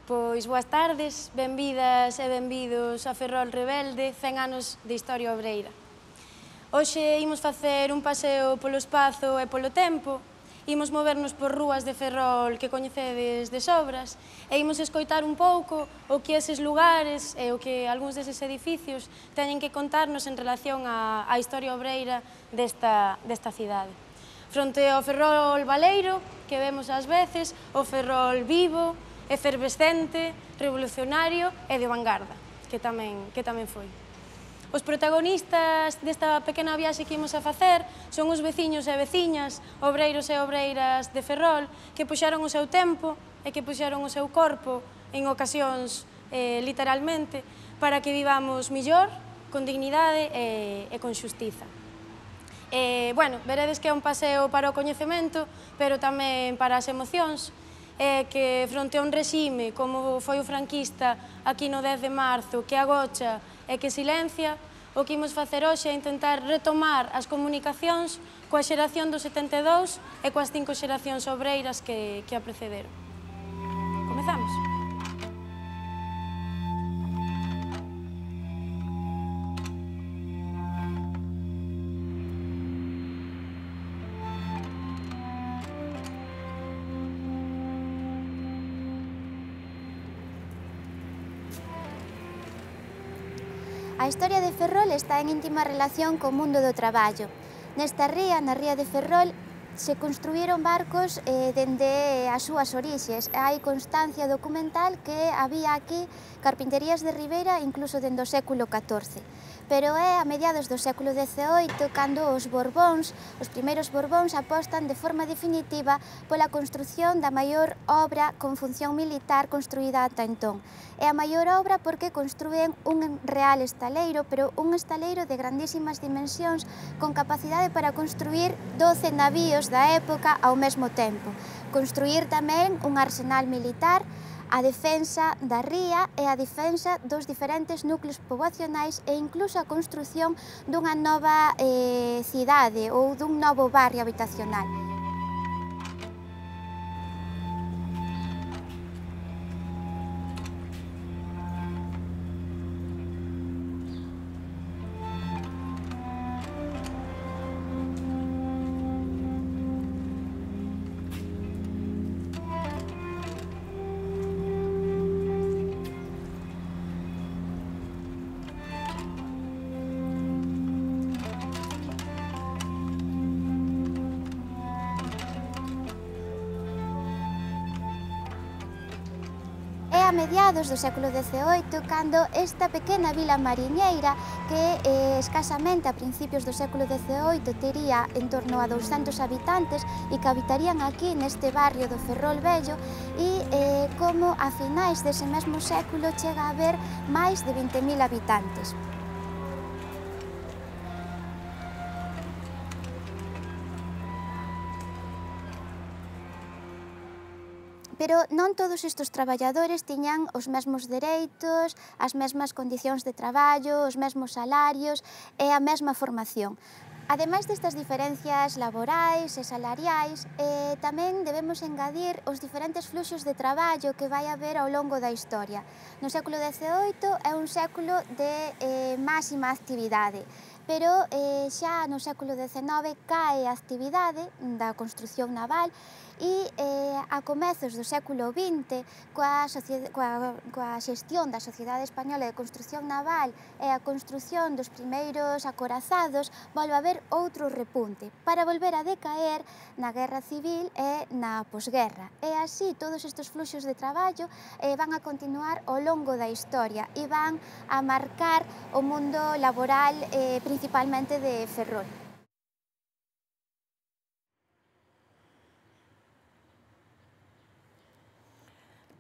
Pois boas tardes, benvidas e benvidos a Ferrol Rebelde, 100 anos de historia obreira. Hoxe imos facer un paseo polo espazo e polo tempo, imos movernos por rúas de Ferrol que coñecedes de sobras e imos escoitar un pouco o que eses lugares e o que algúns deses edificios teñen que contarnos en relación á historia obreira desta cidade. Fronte ao Ferrol baleiro, que vemos ás veces, o Ferrol vivo, efervescente, revolucionario e de vanguarda, que tamén foi. Os protagonistas desta pequena viaxe que imos a facer son os veciños e veciñas, obreiros e obreiras de Ferrol, que puxaron o seu tempo e que puxaron o seu corpo, en ocasións literalmente, para que vivamos millor, con dignidade e con xustiza. Veredes que é un paseo para o coñecemento, pero tamén para as emocións, que fronte a un regime como foi o franquista aquí no 10 de marzo, que agocha e que silencia, o que imos facer hoxe é intentar retomar as comunicacións coa xeración do 72 e coas 5 xeracións obreiras que a precederon. Comezamos? A historia de Ferrol está en íntima relación co mundo do traballo. Nesta ría, na ría de Ferrol, se construíron barcos dende as súas orixes. Hai constancia documental que había aquí carpinterías de ribeira incluso dende o século XIV. Pero é a mediados do século XVIII cando os primeiros Borbóns apostan de forma definitiva pola construción da maior obra con función militar construída ata entón. É a maior obra porque construen un real estaleiro, pero un estaleiro de grandísimas dimensións con capacidade para construir 12 navíos da época ao mesmo tempo. Construir tamén un arsenal militar, a defensa da ría e a defensa dos diferentes núcleos poboacionais e incluso a construción dunha nova cidade ou dun novo barrio habitacional. A mediados do século XVIII, cando esta pequena vila mariñeira, que escasamente a principios do século XVIII tería en torno a 200 habitantes e que habitarían aquí neste barrio do Ferrol Vello, e como a finais dese mesmo século chega a haber máis de 20.000 habitantes. Pero non todos estes traballadores tiñan os mesmos dereitos, as mesmas condicións de traballo, os mesmos salarios e a mesma formación. Ademais destas diferencias laborais e salariais, tamén debemos engadir os diferentes fluxos de traballo que vai haber ao longo da historia. No século XVIII é un século de máxima actividade, pero xa no século XIX cae a actividade da construción naval e a comezos do século XX, coa xestión da Sociedade Española de Construcción Naval e a construción dos primeiros acorazados, volve a haber outro repunte, para volver a decaer na Guerra Civil e na posguerra. E así todos estes fluxos de traballo van a continuar ao longo da historia e van a marcar o mundo laboral principalmente de Ferrol.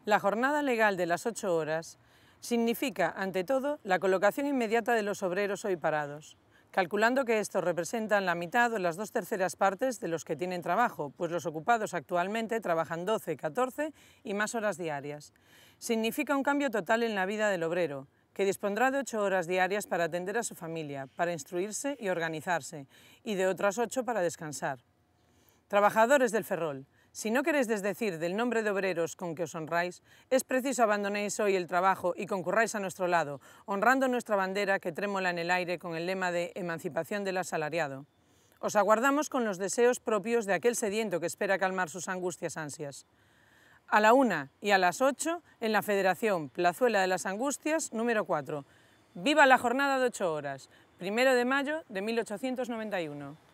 La jornada legal de las 8 horas significa, ante todo, la colocación inmediata de los obreros hoy parados, calculando que estos representan la mitad o las 2/3 partes de los que tienen trabajo, pues los ocupados actualmente trabajan 12, 14 y más horas diarias. Significa un cambio total en la vida del obrero, que dispondrá de 8 horas diarias para atender a su familia, para instruirse y organizarse, y de otras 8 para descansar. Trabajadores del Ferrol, Si no queréis desdecir del nombre de obreros con que os honráis, es preciso abandonéis hoy el trabajo y concurráis a nuestro lado, honrando nuestra bandera que trémola en el aire con el lema de emancipación del asalariado. Os aguardamos con los deseos propios de aquel sediento que espera calmar sus ansias. A la 1 y a las 8 en la Federación Plazuela de las Angustias número 4. ¡Viva la jornada de 8 horas! 1 de mayo de 1891.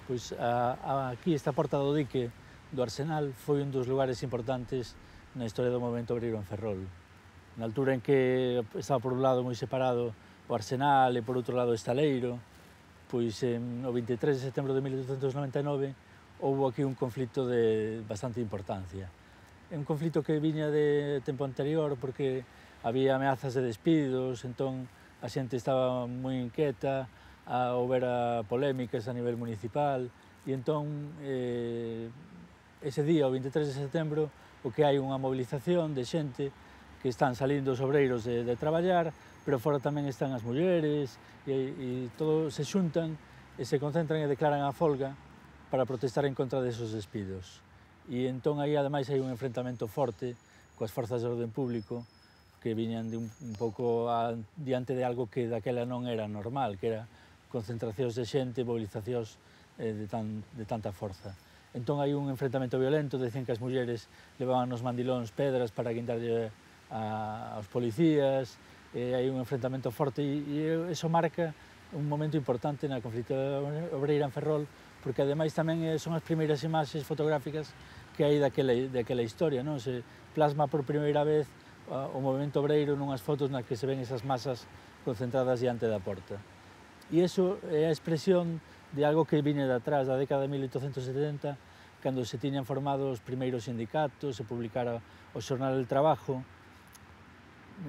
Pois aquí esta porta do dique do Arsenal foi un dos lugares importantes na historia do movemento obreiro en Ferrol. Na altura en que estaba por un lado moi separado o Arsenal e por outro lado o Estaleiro, pois no 23 de setembro de 1899 houve aquí un conflito de bastante importancia. É un conflito que viña de tempo anterior porque había ameazas de despidos, entón a xente estaba moi inquieta, houbera polémicas a nivel municipal e entón ese día, o 23 de setembro, o que hai unha movilización de xente que están salindo os obreiros de traballar, pero fora tamén están as mulleres e todos se xuntan e se concentran e declaran a folga para protestar en contra desos despidos. E entón aí ademais hai un enfrentamento forte coas forzas de orden público que viñan de un pouco diante de algo que daquela non era normal, que era concentracións de xente, movilizacións de tanta forza. Entón hai un enfrentamento violento, dicen que as mulleres levaban nos mandilóns pedras para guindarlle aos policías, hai un enfrentamento forte e iso marca un momento importante na conflito obreira en Ferrol, porque ademais tamén son as primeiras imaxes fotográficas que hai daquela historia, non? Se plasma por primeira vez o movemento obreiro nunhas fotos nas que se ven esas masas concentradas diante da porta. E iso é a expresión de algo que viña de atrás, da década de 1870, cando se tiñan formado os primeiros sindicatos, se publicara o Xornal del Trabajo,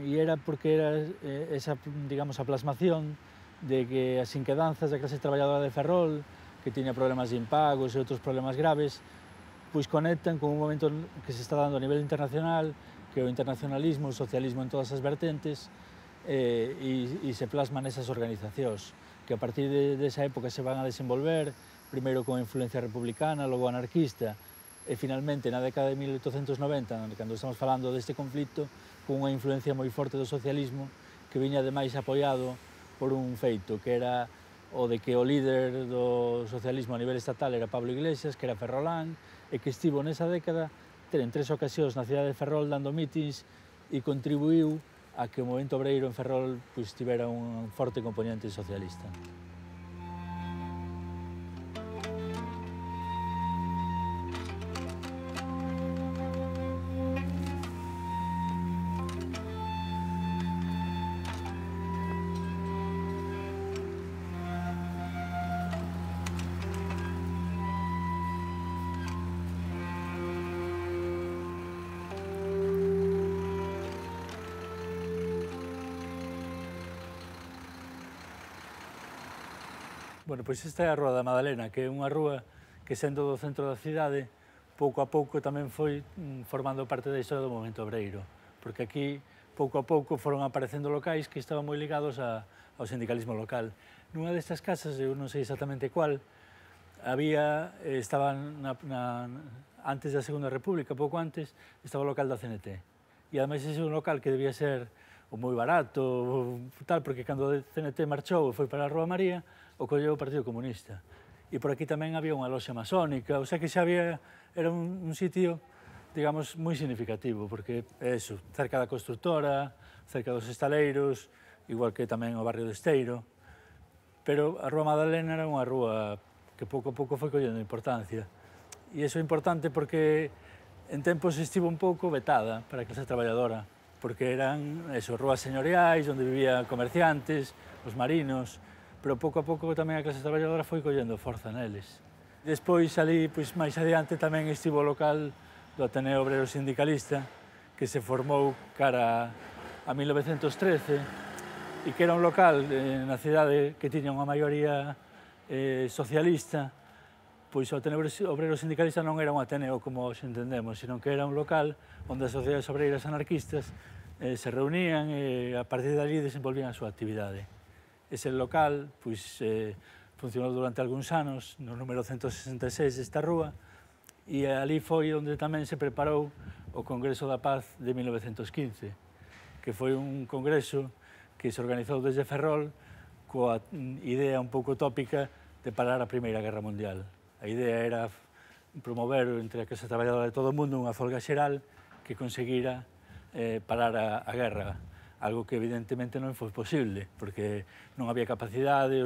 e era porque era esa, digamos, a plasmación de que as inquedanzas da clase traballadora de Ferrol, que tiña problemas de impagos e outros problemas graves, pois conectan con un momento que se está dando a nivel internacional, que é o internacionalismo, o socialismo en todas as vertentes, e se plasman esas organizacións, que a partir desa época se van a desenvolver, primeiro con influencia republicana, logo anarquista, e finalmente na década de 1890, cando estamos falando deste conflito, con unha influencia moi forte do socialismo, que viña ademais apoiado por un feito, que era o de que o líder do socialismo a nivel estatal era Pablo Iglesias, que era ferrolán, e que estivo nesa década en 3 ocasións na cidade de Ferrol dando mítins e contribuiu a que o movemento obreiro en Ferrol tivera un forte componente socialista. Bueno, pois esta é a Rúa da Madalena, que é unha rúa que, sendo do centro da cidade, pouco a pouco tamén foi formando parte da historia do movemento obreiro, porque aquí, pouco a pouco, foron aparecendo locais que estaban moi ligados ao sindicalismo local. Nunha destas casas, eu non sei exactamente cuál, estaban antes da Segunda República, pouco antes, estaba o local da CNT. E ademais ese é un local que debía ser moi barato, tal, porque cando a CNT marchou e foi para a Rúa María, o colleu o Partido Comunista. E por aquí tamén había unha loxa masónica, o sea que xa era un sitio, digamos, moi significativo, porque é eso, cerca da constructora, cerca dos estaleiros, igual que tamén o barrio de Esteiro, pero a Rúa Madalena era unha rúa que pouco a pouco foi collendo importancia. E iso é importante porque en tempos estivo un pouco vetada para a clase traballadora, porque eran rúas señoriais, onde vivían comerciantes, os marinos, pero pouco a pouco tamén a clase traballadora foi collendo forza neles. Despois, ali, máis adiante, tamén estivo o local do Ateneo Obrero Sindicalista, que se formou cara a 1913, e que era un local na cidade que tiña unha maioría socialista. Pois o Ateneo Obrero Sindicalista non era un ateneo como hoxe entendemos, sino que era un local onde as sociedades obreiras anarquistas se reunían e a partir de ali desenvolvían a súa actividade. Ese local funcionou durante algúns anos no número 166 desta rúa e ali foi onde tamén se preparou o Congreso da Paz de 1915, que foi un congreso que se organizou desde Ferrol coa idea un pouco tópica de parar a Primeira Guerra Mundial. A idea era promover entre a clase traballadora de todo o mundo unha folga xeral que conseguira parar a guerra, algo que evidentemente non foi posible, porque non había capacidade,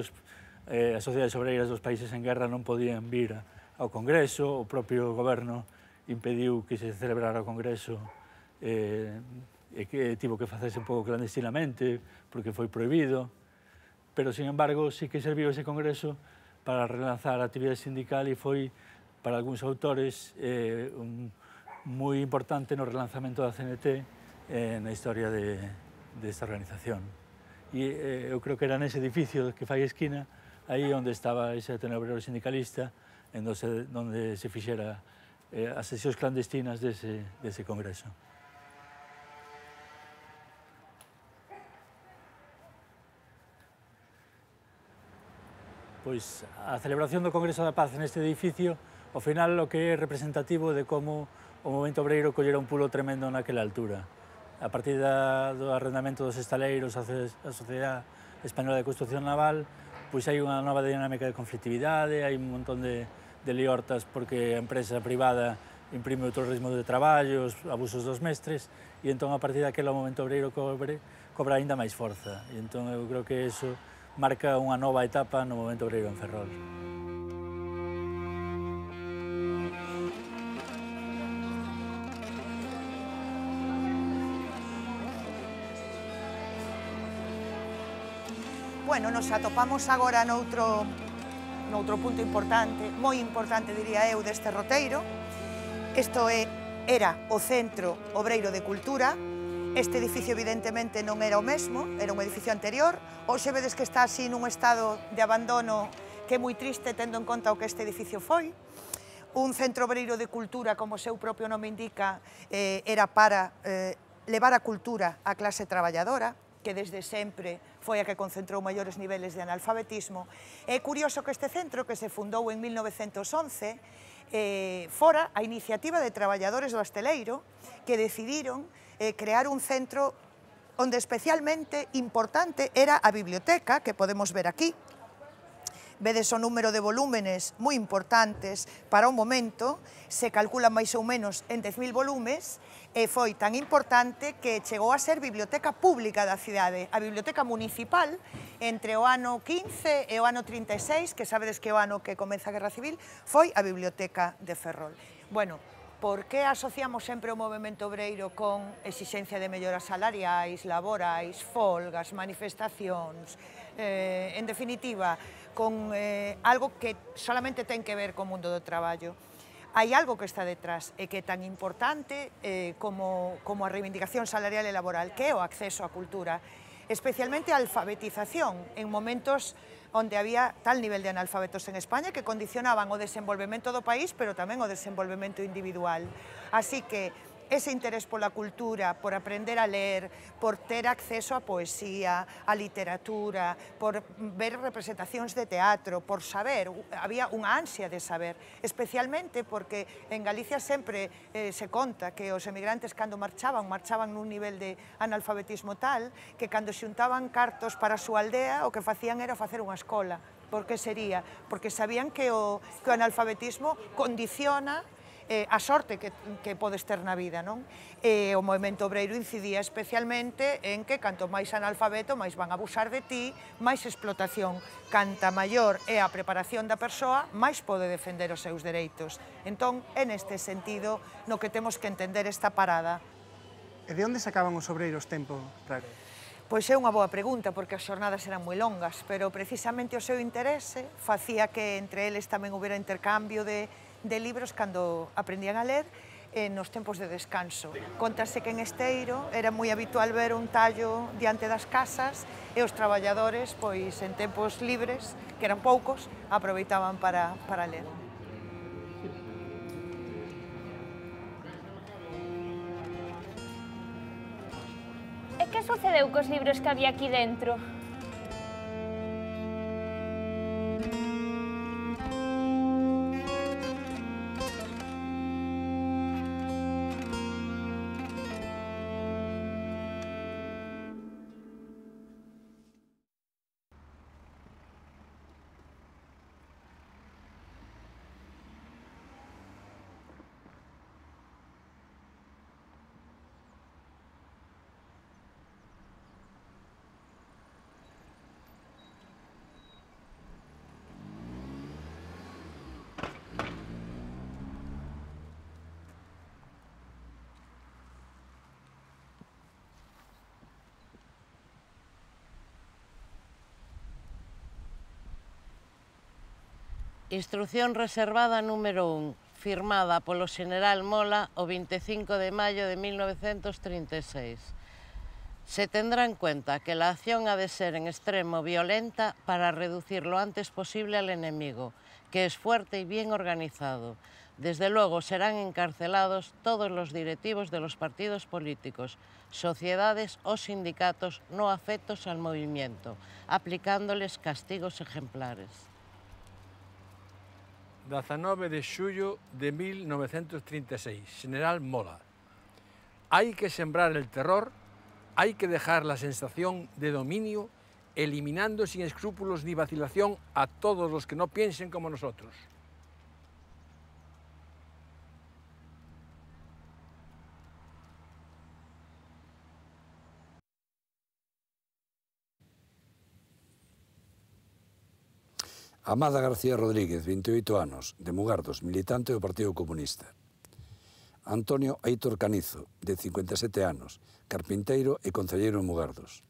as sociedades obreiras dos países en guerra non podían vir ao Congreso, o propio goberno impediu que se celebrara o Congreso e que tivo que facerse un pouco clandestinamente porque foi prohibido, pero, sin embargo, sí que serviu ese Congreso para relanzar a actividade sindical e foi, para algúns autores, moi importante no relanzamento da CNT na historia desta organización. E eu creo que era nese edificio que fai esquina, aí onde estaba ese Ateneo Obrero Sindicalista, onde se fixera as sesións clandestinas dese congreso. Pois a celebración do Congreso da Paz neste edificio, ao final, o que é representativo de como o movemento obreiro collera un pulo tremendo naquela altura. A partir do arrendamento dos estaleiros, a Sociedade Española de Construcción Naval, pois hai unha nova dinámica de conflictividade, hai un montón de liortas porque a empresa privada imprime outro ritmo de traballo, os abusos dos mestres, e entón a partir daquela o movemento obreiro cobra aínda máis forza. E entón eu creo que iso marca unha nova etapa no movemento obreiro en Ferrol. Bueno, nos atopamos agora noutro punto importante, moi importante, diría eu, deste roteiro. Isto era o Centro Obreiro de Cultura. Este edificio, evidentemente, non era o mesmo, era un edificio anterior. Hoxe vedes que está así nun estado de abandono que é moi triste, tendo en conta o que este edificio foi. Un centro obreiro de cultura, como o seu propio nome indica, era para levar a cultura á clase traballadora, que desde sempre foi a que concentrou maiores niveles de analfabetismo. É curioso que este centro, que se fundou en 1911, fora a iniciativa de traballadores do hosteleiro que decidiron crear un centro onde especialmente importante era a biblioteca, que podemos ver aquí. Vedes o número de volúmenes moi importantes para o momento, se calcula máis ou menos en 10.000 volumes, e foi tan importante que chegou a ser biblioteca pública da cidade, a biblioteca municipal, entre o ano 15 e o ano 36, que sabedes que o ano que comeza a Guerra Civil, foi a biblioteca de Ferrol. Bueno, por que asociamos sempre o movemento obreiro con exixencia de melloras salariais, laborais, folgas, manifestacións, en definitiva, con algo que solamente ten que ver co mundo do traballo? Hai algo que está detrás e que é tan importante como a reivindicación salarial e laboral, que é o acceso á cultura, especialmente a alfabetización, en momentos onde había tal nivel de analfabetos en España que condicionaban o desenvolvemento do país, pero tamén o desenvolvemento individual. Así que ese interés pola cultura, por aprender a ler, por ter acceso á poesía, á literatura, por ver representacións de teatro, por saber, había unha ansia de saber, especialmente porque en Galicia sempre se conta que os emigrantes cando marchaban nun nivel de analfabetismo tal que cando xuntaban cartos para a súa aldea o que facían era facer unha escola. Por que sería? Porque sabían que o analfabetismo condiciona a sorte que podes ter na vida, non? E o movemento obreiro incidía especialmente en que canto máis analfabeto, máis van a abusar de ti, máis explotación. Canta maior é a preparación da persoa, máis pode defender os seus dereitos. Entón, é neste sentido no que temos que entender esta parada. E de onde sacaban os obreiros tempo para... Pois é unha boa pregunta, porque as xornadas eran moi longas, pero precisamente o seu interese facía que entre eles tamén houbera intercambio de libros cando aprendían a ler nos tempos de descanso. Contase que en Esteiro era moi habitual ver un tallo diante das casas e os traballadores, pois en tempos libres, que eran poucos, aproveitaban para ler. E que sucedeu cos libros que había aquí dentro? Instrucción reservada número 1, firmada polo Xeneral Mola o 25 de maio de 1936. Se tendrá en cuenta que la acción ha de ser en extremo violenta para reducir lo antes posible al enemigo, que es fuerte y bien organizado. Desde luego serán encarcelados todos los directivos de los partidos políticos, sociedades o sindicatos no afectos al movimiento, aplicándoles castigos ejemplares. 19 de xullo de 1936, Xeneral Mola. Hay que sembrar el terror, hay que dejar la sensación de dominio, eliminando sin escrúpulos ni vacilación a todos los que no piensen como nosotros. Amada García Rodríguez, 28 anos, de Mugardos, militante do Partido Comunista. Antonio Aitor Canizo, de 57 anos, carpinteiro e concelleiro en Mugardos.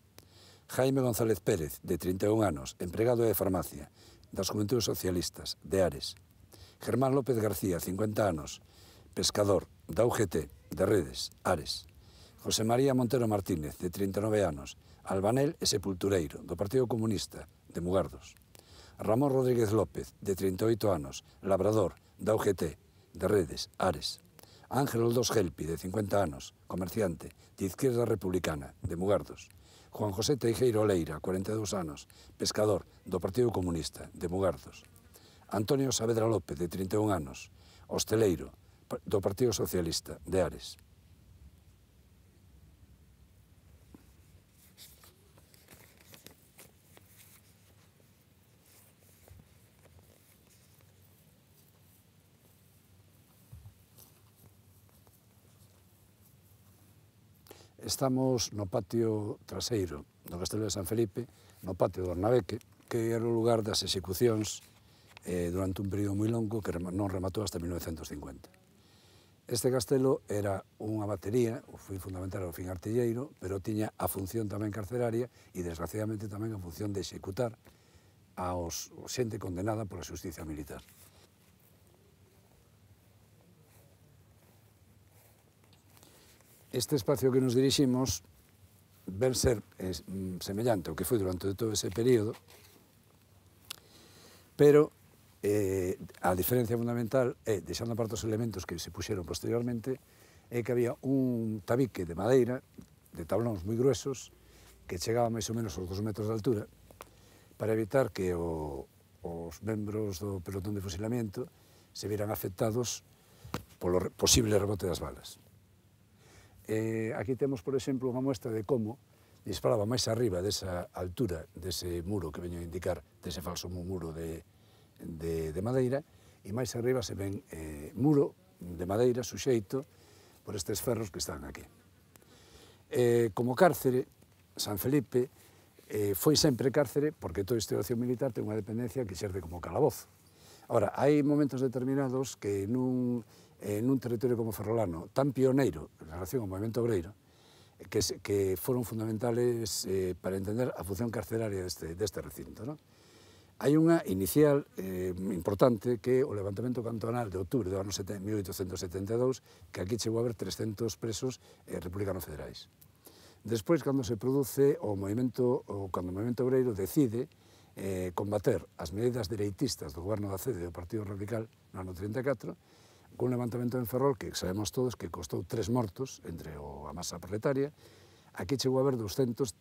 Jaime González Pérez, de 31 anos, empregado de farmacia, das Juventudes Socialistas, de Ares. Germán López García, 50 anos, pescador, da UGT, de Redes, Ares. José María Montero Martínez, de 39 anos, albanel e sepultureiro, do Partido Comunista, de Mugardos. Ramón Rodríguez López, de 38 anos, labrador, da UGT, de Redes, Ares. Ángel Oldós Gelpi, de 50 anos, comerciante, de Izquierda Republicana, de Mugardos. Juan José Teijeiro Oleira, 42 anos, pescador, do Partido Comunista, de Mugardos. Antonio Saavedra López, de 31 anos, hosteleiro, do Partido Socialista, de Ares. Estamos no patio traseiro do Castelo de San Felipe, no patio do Ornabeque, que era o lugar das execucións durante un período moi longo que non rematou hasta 1950. Este castelo era unha batería, foi fundamental ao fin artilleiro, pero tiña a función tamén carceraria e, desgraciadamente, tamén a función de executar a xente condenada pola xusticia militar. Este espacio que nos diriximos ven ser semellante ao que foi durante todo ese período, pero a diferencia fundamental é, deixando aparte os elementos que se puxeron posteriormente, é que había un tabique de madeira, de tablóns moi gruesos, que chegaba máis ou menos aos 2 metros de altura, para evitar que os membros do pelotón de fusilamiento se vieran afectados polo posible rebote das balas. Aquí temos, por exemplo, unha muestra de como disparaba máis arriba desa altura, dese muro que veño a indicar, dese falso muro de madeira, e máis arriba se ven muro de madeira suxeito por estes ferros que están aquí. Como cárcere, San Felipe foi sempre cárcere porque toda institución militar ten unha dependencia que serve como calabozo. Ahora, hai momentos determinados que nun territorio como Ferrolano, tan pioneiro en relación ao movimento obreiro, que foron fundamentales para entender a función carceraria deste recinto. Hai unha inicial importante que é o levantamento cantonal de outubro do ano 1872, que aquí chegou a haber 300 presos republicanos federais. Despois, cando se produce cando o movimento obreiro decide combater as medidas dereitistas do goberno da CEDE e do Partido Radical no ano 34, cun levantamento en Ferrol que sabemos todos que costou 3 mortos entre a masa proletaria. Aquí chegou a haber 200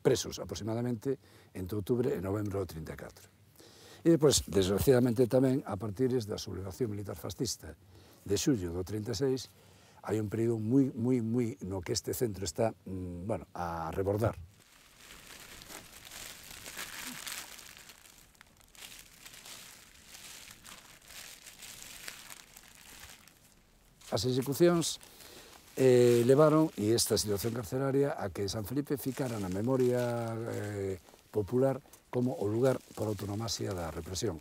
presos aproximadamente entre outubro e novembro do 34. E depois, desgraciadamente tamén, a partir da sublevación militar fascista de xullo do 36, hai un período moi no que este centro está a rebordar. As execucións levaron, e esta situación carceraria, a que San Felipe ficara na memoria popular como o lugar por autonomasia da represión.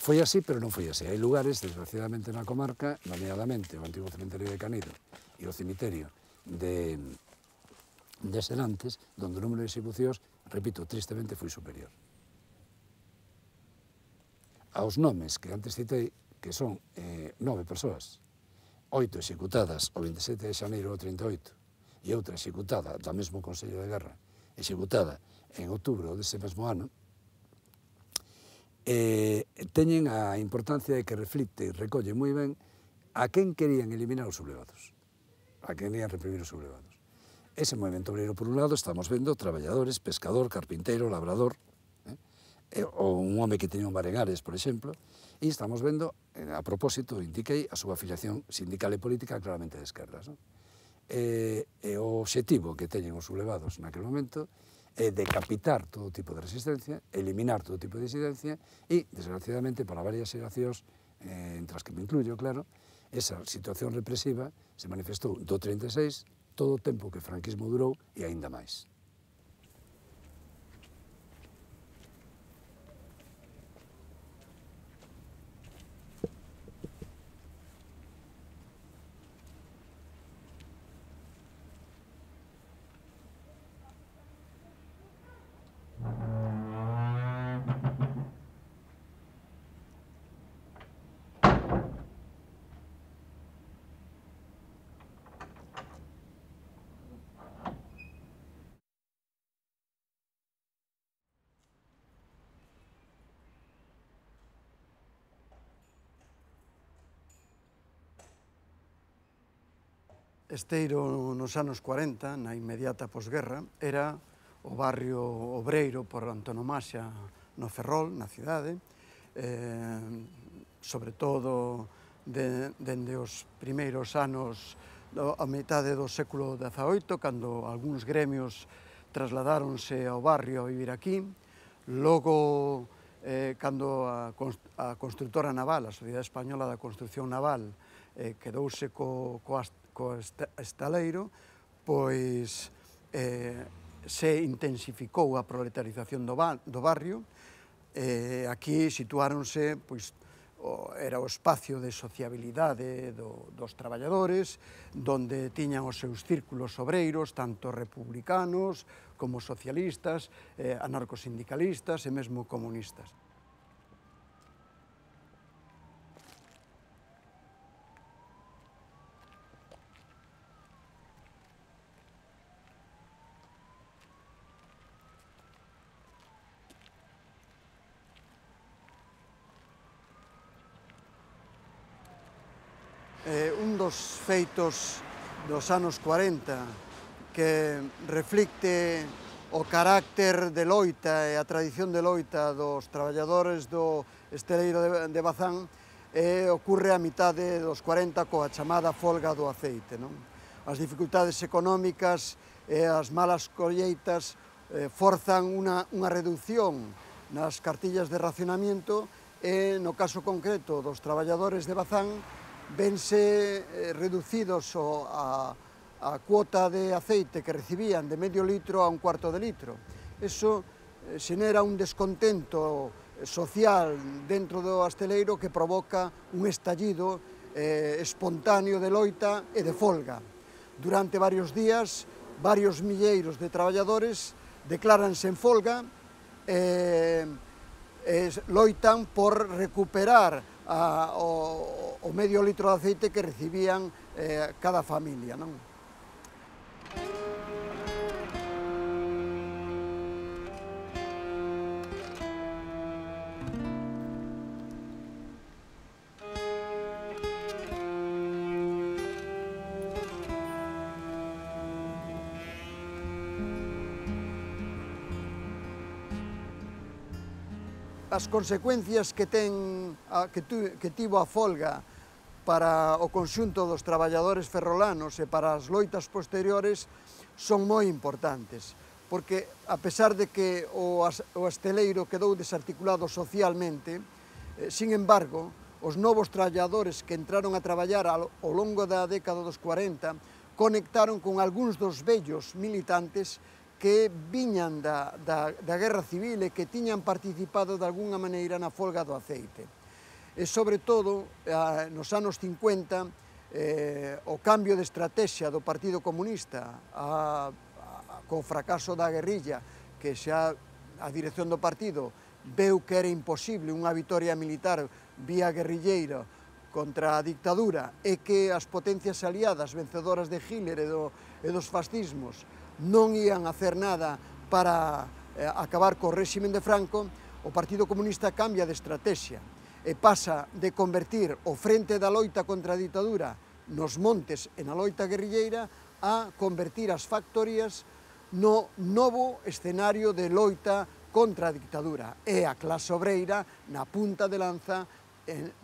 Foi así, pero non foi así. Hai lugares, desgraciadamente, na comarca, nomeadamente o antigo cemiterio de Canido e o cemiterio de Serantes, donde o número de execucións, repito, tristemente foi superior. Aos nomes que antes citei, que son 9 persoas, 8 executadas o 27 de xaneiro do 38 e outra executada do mesmo Consello de Guerra, executada en outubro dese mesmo ano, teñen a importancia de que reflicte e recolle moi ben a quen querían eliminar os sublevados, a quen querían reprimir os sublevados. Ese movimento obreiro, por un lado, estamos vendo traballadores, pescador, carpinteiro, labrador, ou un home que teña un bar en Ares, por exemplo, e estamos vendo, a propósito, indiquei, a súa afiliación sindical e política claramente de esquerdas. E o obxectivo que teñen os sublevados naquele momento é decapitar todo tipo de resistencia, eliminar todo tipo de disidencia e, desgraciadamente, para varias xeracións, entre as que me incluyo, claro, esa situación represiva se manifestou do 36, todo o tempo que o franquismo durou e aínda máis. Esteiro nos anos 40, na inmediata posguerra, era o barrio obreiro por antonomasia no Ferrol, na cidade, sobre todo dende os primeiros anos a metade do século XVIII, cando algúns gremios trasladáronse ao barrio a vivir aquí. Logo, cando a constructora naval, a Sociedade Española da Construcción Naval, quedouse co estaleiro, pois se intensificou a proletarización do barrio. Aquí situáronse, pois, era o espacio de sociabilidade dos traballadores, donde tiñan os seus círculos obreiros, tanto republicanos como socialistas, anarcosindicalistas e mesmo comunistas. Un dos feitos dos anos 40 que reflicte o carácter de loita e a tradición de loita dos traballadores do esteleiro de Bazán ocorre a mitade dos 40 coa chamada folga do aceite. As dificultades económicas e as malas colleitas forzan unha reducción nas cartillas de racionamiento e, no caso concreto dos traballadores de Bazán, vense reducidos a cuota de aceite que recibían de medio litro a un cuarto de litro. Eso xenera un descontento social dentro do asteleiro que provoca un estallido espontáneo de loita e de folga. Durante varios días, varios milleiros de traballadores decláranse en folga e loitan por recuperar o medio litro de aceite que recibían cada familia, non? As consecuencias que tivo a folga para o conxunto dos traballadores ferrolanos e para as loitas posteriores son moi importantes, porque a pesar de que o hosteleiro quedou desarticulado socialmente, sin embargo, os novos traballadores que entraron a traballar ao longo da década dos 40 conectaron con algúns dos vellos militantes que viñan da Guerra Civil e que tiñan participado de alguna maneira na folga do aceite. E, sobre todo, nos anos 50, o cambio de estrategia do Partido Comunista co fracaso da guerrilla, que xa a dirección do partido veu que era imposible unha vitoria militar vía guerrilleira contra a dictadura e que as potencias aliadas vencedoras de Hitler e dos fascismos non ían a hacer nada para acabar co réximen de Franco, o Partido Comunista cambia de estrategia e pasa de convertir o frente da loita contra a ditadura nos montes e na loita guerrilleira a convertir as factorías no novo escenario de loita contra a dictadura e a clase obreira na punta de lanza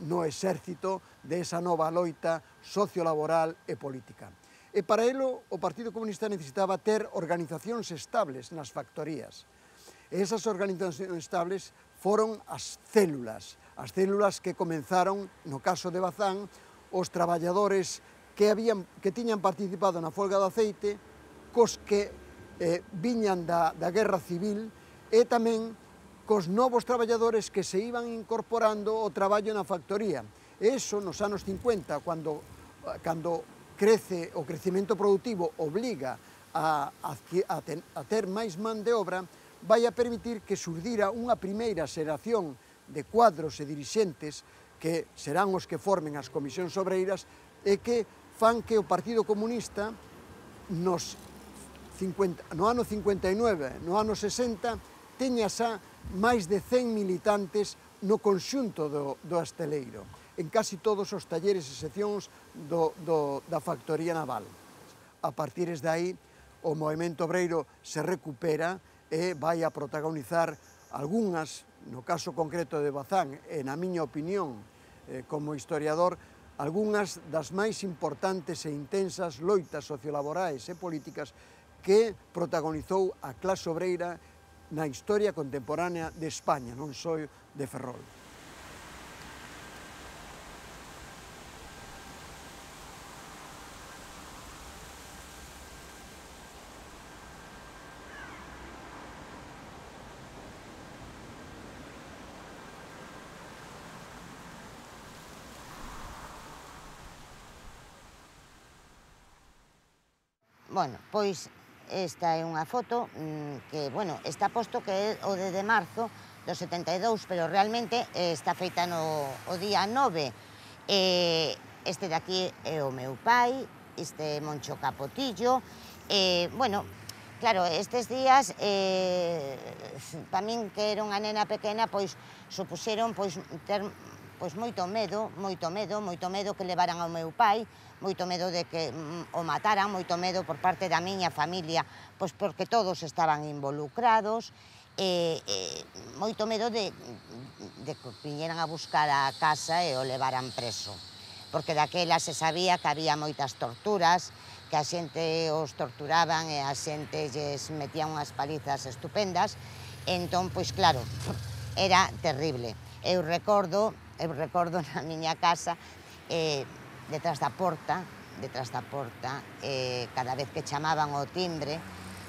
no exército desa nova loita sociolaboral e política. E para elo, o Partido Comunista necesitaba ter organizacións estables nas factorías. E esas organizacións estables foron as células que comenzaron, no caso de Bazán, os traballadores que tiñan participado na folga do aceite, cos que viñan da Guerra Civil e tamén cos novos traballadores que se iban incorporando ao traballo na factoría. E iso, nos anos 50, cando crece o crecemento productivo, obliga a ter máis man de obra, vai a permitir que xurdira unha primeira xeración de cuadros e dirixentes que serán os que formen as comisións obreiras e que fan que o Partido Comunista no ano 59, no ano 60, teña xa máis de 100 militantes no conxunto do hosteleiro, en casi todos os talleres e seccións da factoría naval. A partir de aí, o movemento obreiro se recupera e vai a protagonizar algunhas, no caso concreto de Bazán, e na miña opinión, como historiador, algunhas das máis importantes e intensas loitas sociolaborais e políticas que protagonizou a clase obreira na historia contemporánea de España, non só de Ferrol. Bueno, pois esta é unha foto que, bueno, está posto que é o de marzo do 72, pero realmente está feita o día 9. Este de aquí é o meu pai, este é Moncho Capotillo. Bueno, claro, estes días, para min que era unha nena pequena, pois supuxeron ter moito medo que levaran ao meu pai, moito medo de que o mataran, moito medo por parte da miña familia, pois porque todos estaban involucrados, moito medo de que viñeran a buscar a casa e o levaran preso, porque daquela se sabía que había moitas torturas, que a xente os torturaban e a xente lles metían unhas palizas estupendas, entón, pois claro, era terrible. Eu recordo na miña casa, detrás da porta, cada vez que chamaban o timbre,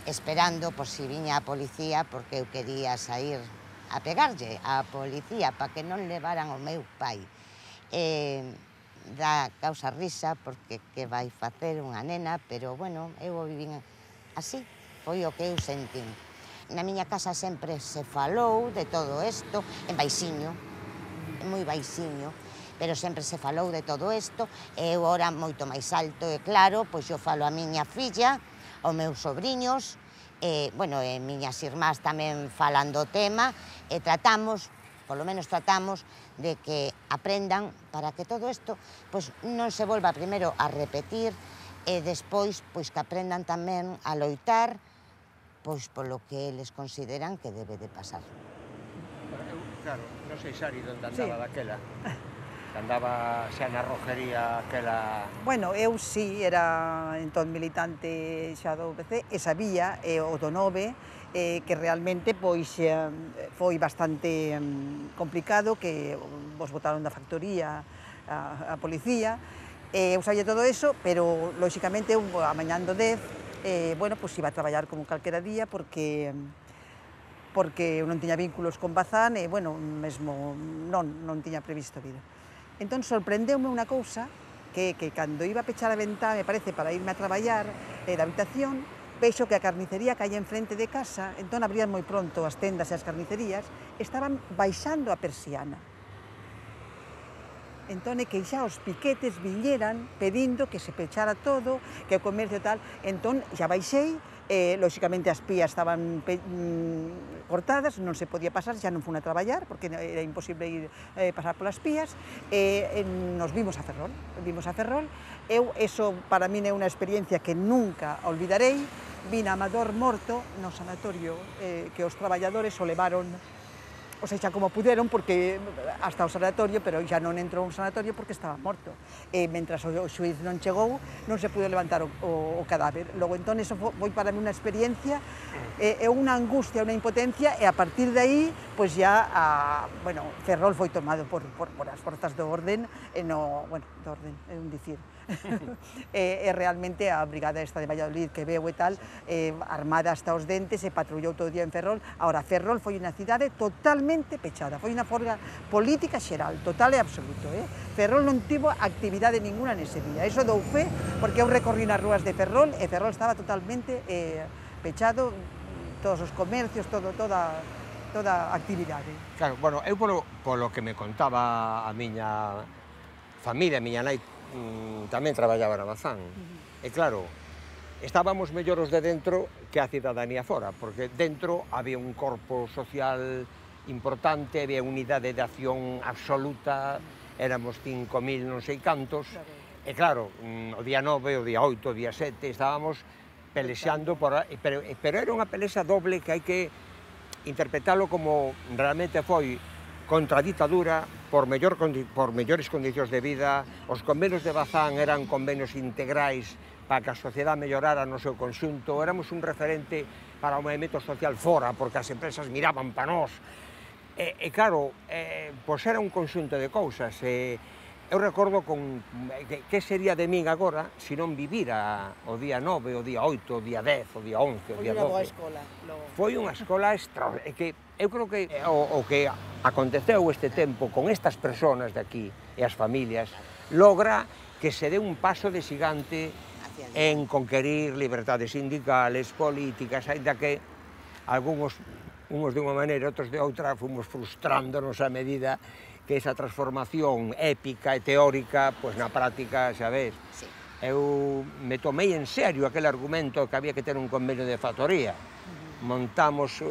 esperando por si viña a policía, porque eu quería sair a pegarlle á policía para que non levaran o meu pai. dá causa risa, porque que vai facer unha nena, pero, bueno, eu o vivín así, foi o que eu sentín. Na miña casa sempre se falou de todo isto, en baixiño, moi baixiño, pero sempre se falou de todo isto, e eu ora moito máis alto, e claro, pois eu falo a miña filla, aos meus sobrinhos, e, bueno, e miñas irmás tamén falan do tema, e tratamos, polo menos tratamos, de que aprendan para que todo isto, pois, non se volva primeiro a repetir, e despois, pois, que aprendan tamén a loitar, pois, polo que eles consideran que debe de pasar. Eu, claro, non sei, Sari, onde andaba daquela. Andaba xa na rojería aquela... Bueno, eu sí, era entón militante xa do PC, e sabía, o do 9, que realmente pois foi bastante complicado, que vos botaron da factoría a policía, eu sabía todo eso, pero, lóxicamente, eu a mañán do 10, bueno, pois iba a traballar como calquera día, porque eu non tiña vínculos con Bazán, e, bueno, mesmo non tiña previsto vida. Entón, sorprendeume unha cousa, que cando iba a pechar a ventá, me parece, para irme a traballar da habitación, vexo que a carnicería que hai enfrente de casa, entón abrían moi pronto as tendas e as carnicerías, estaban baixando a persiana. Entón, é que xa os piquetes viñeran pedindo que se pechara todo, que o comercio tal. Entón, xa baixei, lóxicamente as pías estaban cortadas, non se podía pasar, xa non fun a traballar, porque era imposible ir pasar polas pías, e nos vimos a Ferrol. Eu, eso para min é unha experiencia que nunca olvidarei. Vin a Amador morto no sanatorio, que os traballadores o levaron, o sea, como puderon, porque hasta o sanatorio, pero xa non entrou un sanatorio porque estaba morto. E mentras o xuiz non chegou, non se pudo levantar o cadáver. Logo, entón, eso foi para mí unha experiencia, é unha angustia, unha impotencia, e a partir de aí, pois ya, bueno, Ferrol foi tomado por as forzas do orden, bueno, do orden, é un dicir. E realmente a brigada esta de Valladolid que veu e tal, armada hasta os dentes, e patrullou todo o día en Ferrol. Ahora, Ferrol foi unha cidade totalmente pechada, foi unha folga política xeral, total e absoluto. Ferrol non tivo actividade ninguna nese día, eso dou fe, porque eu recorrí nas rúas de Ferrol, e Ferrol estaba totalmente pechado, todos os comercios, toda actividade. Claro, bueno, eu polo que me contaba a miña familia, a miña nai, tamén traballaba na Bazán. E claro, estábamos mellor os de dentro que a cidadanía fora, porque dentro había un corpo social importante, había unidade de acción absoluta, éramos 5.000 non sei cantos, e claro, o día 9, o día 8, o día 7, estábamos pelexando, pero era unha pelexa doble que hai que interpretalo como realmente foi contra a ditadura, por mellores condicións de vida. Os convenios de Bazán eran convenios integrais para que a sociedade mellorara no seu conxunto. Éramos un referente para o movimento social fora, porque as empresas miraban para nós. E claro, pois era un conxunto de cousas. Eu recordo que sería de min agora se non vivira o día 9, o día 8, o día 10, o día 11, o día 12. Foi unha boa escola. Foi unha escola extraordinaria. Eu creo que o que aconteceu este tempo con estas persoas de aquí e as familias logra que se dé un paso de xigante en conquerir liberdades sindicales, políticas, ainda que algúns, uns de unha maneira, outros de outra, fomos frustrándonos a medida que esa transformación épica e teórica, pois na práctica, xa ves, eu me tomei en serio aquel argumento que había que ter un convenio de factoría. Montamos,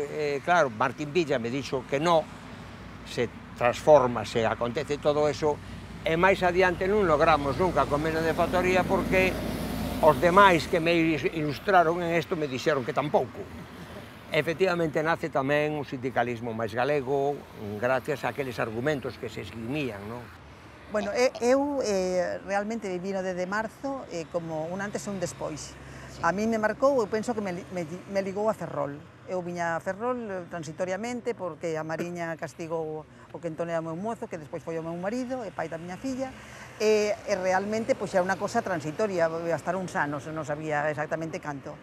claro, Martín Villa me dixo que non, se transforma, se acontece todo eso, e máis adiante non logramos nunca convenio de factoría porque os demais que me ilustraron en isto me dixeron que tampouco. Efectivamente, nace tamén un sindicalismo máis galego, gracias a aqueles argumentos que se esgrimían, non? Bueno, eu realmente viví no 10 de marzo como un antes e un despois. A mí me marcou, eu penso que me ligou a Ferrol. Eu viña a Ferrol transitoriamente porque a Mariña castigou o que entón era o meu mozo, que despois foi o meu marido e pai da miña filla, e realmente era unha cosa transitoria, a estar uns anos, non sabía exactamente canto.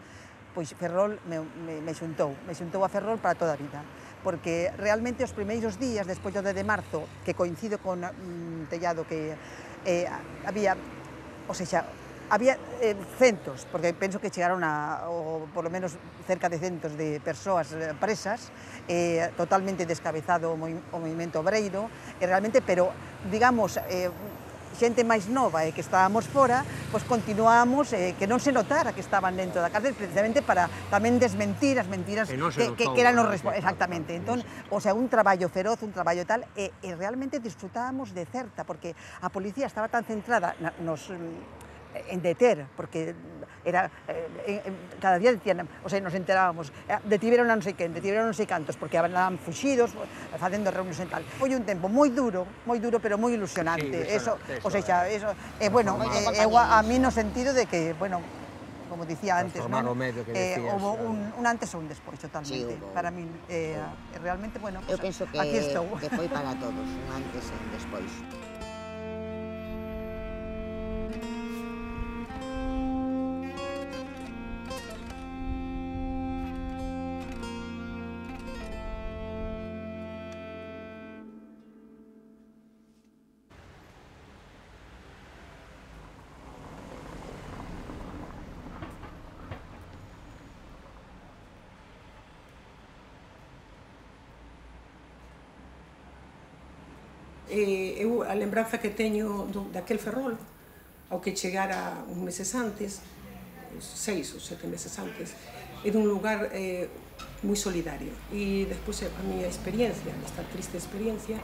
Pois Ferrol me xuntou a Ferrol para toda a vida, porque realmente os primeiros días, despois do 10 de marzo, que coincido con Tellado, que había, o sea, había centos, porque penso que chegaron a, ou por lo menos cerca de centos de persoas presas, totalmente descabezado o movimento obreiro, realmente, pero, digamos, xente máis nova e que estábamos fora, pois continuamos que non se notara que estaban dentro da cárcel, precisamente para tamén desmentir as mentiras que eran os responsables. Exactamente. Entón, o sea, un traballo feroz, un traballo tal, e realmente disfrutábamos de certa, porque a policía estaba tan centrada en deter, porque era cada día decían, o sea, nos enterábamos, detiveron a non sei quen, detiveron a non sei cantos, porque andaban fuxidos, facendo reunións e tal. Foi un tempo moi duro, pero moi ilusionante. Eso, o sea, eso, bueno, a mí no sentido de que, bueno, como dicía antes, non? Houve un antes ou un despois, totalmente. Para mí, realmente, bueno, eu penso que foi para todos, un antes e un despois. Eu a lembranza que teño daquel Ferrol, ao que chegara uns meses antes, 6 ou 7 meses antes, é dun lugar moi solidario. E despois a miña experiencia, esta triste experiencia,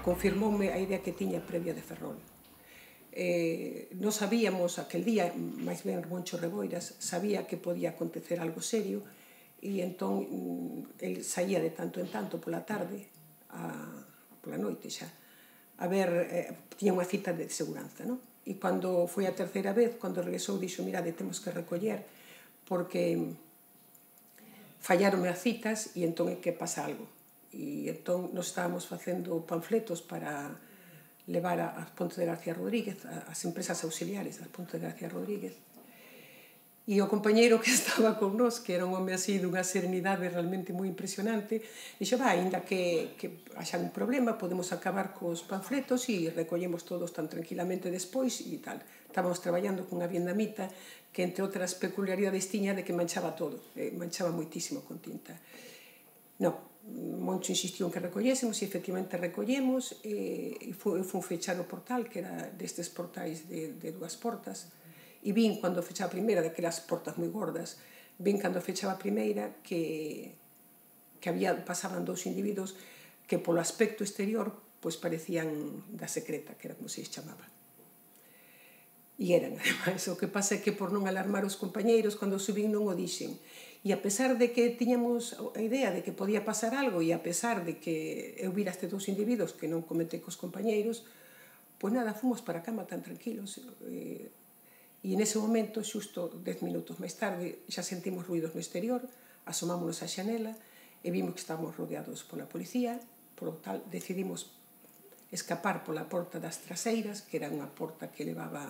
confirmoume a idea que tiña previa de Ferrol. Nos sabíamos aquel día, máis ben Moncho Reboiras, sabía que podía acontecer algo serio, e entón el saía de tanto en tanto pola tarde, pola noite xa, a ver, tiña unha cita de seguranza, non? E cando foi a terceira vez, cando regresou, dixo, mirade, temos que recoller, porque fallaronme as citas e entón é que pasa algo. E entón nos estábamos facendo panfletos para levar a Ponte de García Rodríguez, as empresas auxiliares da Ponte de García Rodríguez. E o compañeiro que estaba con nós, que era un home así dunha serenidade realmente moi impresionante, dixo, ainda que haxa un problema, podemos acabar cos panfletos e recollemos todos tan tranquilamente despois e tal. Estábamos traballando cunha vietnamita que, entre outras peculiaridades, tiña de que manchaba todo, manchaba moitísimo con tinta. Non, Moncho insistiu en que recollésemos e efectivamente recollemos e foi fechar o portal, que era destes portais de 2 portas, e vin cando fechaba a primeira, daquelas portas moi gordas, vin cando fechaba a primeira que pasaban 2 individuos que polo aspecto exterior pois parecían da secreta, que era como se chamaba. E eran, ademais, o que pasa é que por non alarmar os compañeiros, cando subín non o dixen. E a pesar de que tiñamos a idea de que podía pasar algo, e a pesar de que eu vira estes 2 individuos que non comentei cos compañeiros, pois nada, fomos para a cama tan tranquilos. E nese momento, xusto 10 minutos máis tarde, xa sentimos ruidos no exterior, asomámonos á xanela e vimos que estábamos rodeados pola policía, por lo tal decidimos escapar pola porta das traseiras, que era unha porta que levaba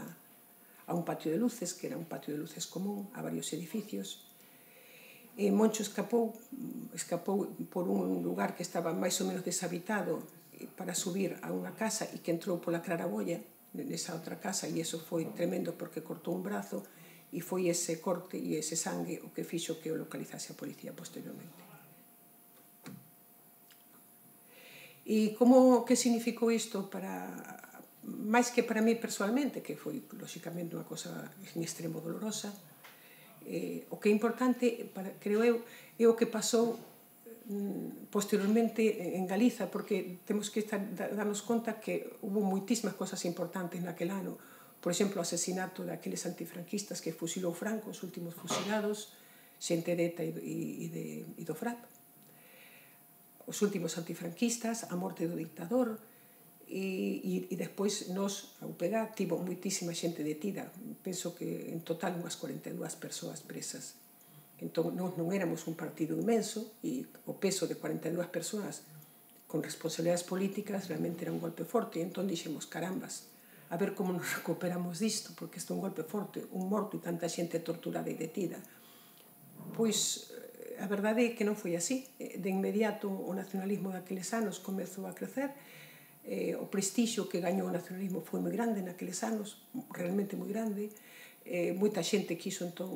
a un patio de luces, que era un patio de luces común a varios edificios. E Moncho escapou por un lugar que estaba máis ou menos deshabitado para subir a unha casa e que entrou pola claraboia nesa outra casa, e iso foi tremendo porque cortou un brazo e foi ese corte e ese sangue o que fixo que o localizase a policía posteriormente. E que significou isto máis que para mí personalmente, que foi lóxicamente unha cosa en extremo dolorosa, o que é importante, creo eu, é o que pasou posteriormente en Galiza, porque temos que darnos conta que hubo moitísimas cosas importantes naquel ano. Por exemplo, o asesinato daqueles antifranquistas que fusilou Franco, os últimos fusilados, xente de ETA e do FRAP. Os últimos antifranquistas, a morte do dictador, e despois nos, a UPG, tivo moitísima xente detida. Penso que en total unhas 42 persoas presas. Entón, non éramos un partido inmenso e o peso de 42 persoas con responsabilidades políticas realmente era un golpe forte. E entón dixemos, carambas, a ver como nos recuperamos disto, porque isto é un golpe forte, un morto e tanta xente torturada e detida. Pois a verdade é que non foi así. De inmediato o nacionalismo daqueles anos comezou a crecer O prestixio que gañou o nacionalismo foi moi grande naqueles anos, realmente moi grande. Moita xente quiso entón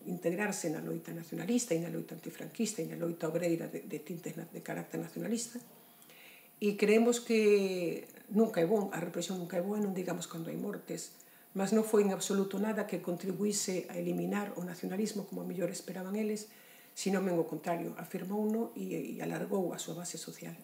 integrarse na loita nacionalista e na loita antifranquista e na loita obreira de tintes de carácter nacionalista. E creemos que nunca é bon, a represión nunca é boa, non digamos cando hai mortes, mas non foi en absoluto nada que contribuíse a eliminar o nacionalismo como a mellor esperaban eles, sino ben o contrario, afirmouno e alargou a súa base social.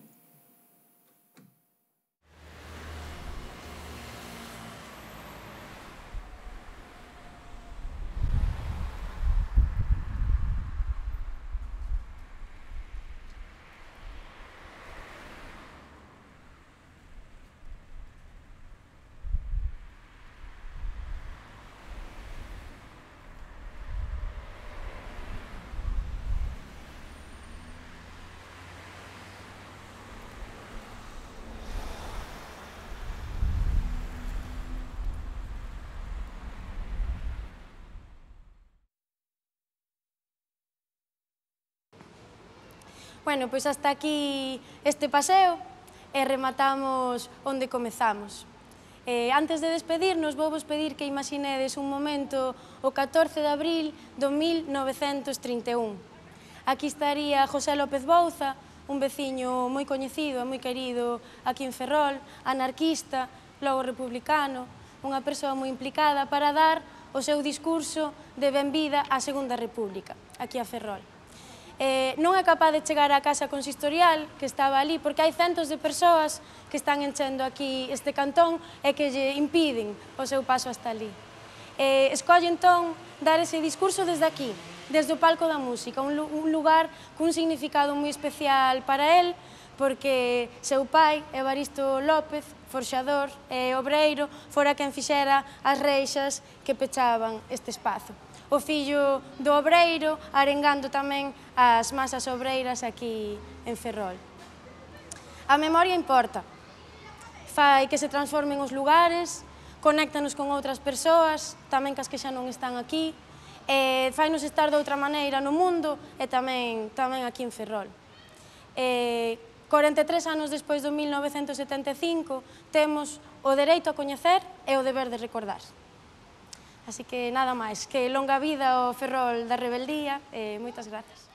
Bueno, pois hasta aquí este paseo e rematamos onde comezamos. Antes de despedirnos, vou vos pedir que imaginedes un momento o 14 de abril do 1931. Aquí estaría José López Bouza, un veciño moi coñecido e moi querido aquí en Ferrol, anarquista, logo republicano, unha persoa moi implicada para dar o seu discurso de benvida á Segunda República, aquí a Ferrol. Non é capaz de chegar á casa consistorial que estaba ali porque hai centos de persoas que están enchendo aquí este cantón e que lle impiden o seu paso hasta ali. Escolle entón dar ese discurso desde aquí, desde o palco da música, un lugar cun significado moi especial para él porque seu pai, Evaristo López, forxador e obreiro, fora quen fixera as reixas que pechaban este espazo. O fillo do obreiro arengando tamén as masas obreiras aquí en Ferrol. A memoria importa, fai que se transformen os lugares, conéctanos con outras persoas, tamén cas que xa non están aquí, e fainos estar de outra maneira no mundo e tamén aquí en Ferrol. 43 anos despois do 1975 temos o dereito a coñecer e o deber de recordar. Así que nada máis, que longa vida ao Ferrol da rebeldía e moitas grazas.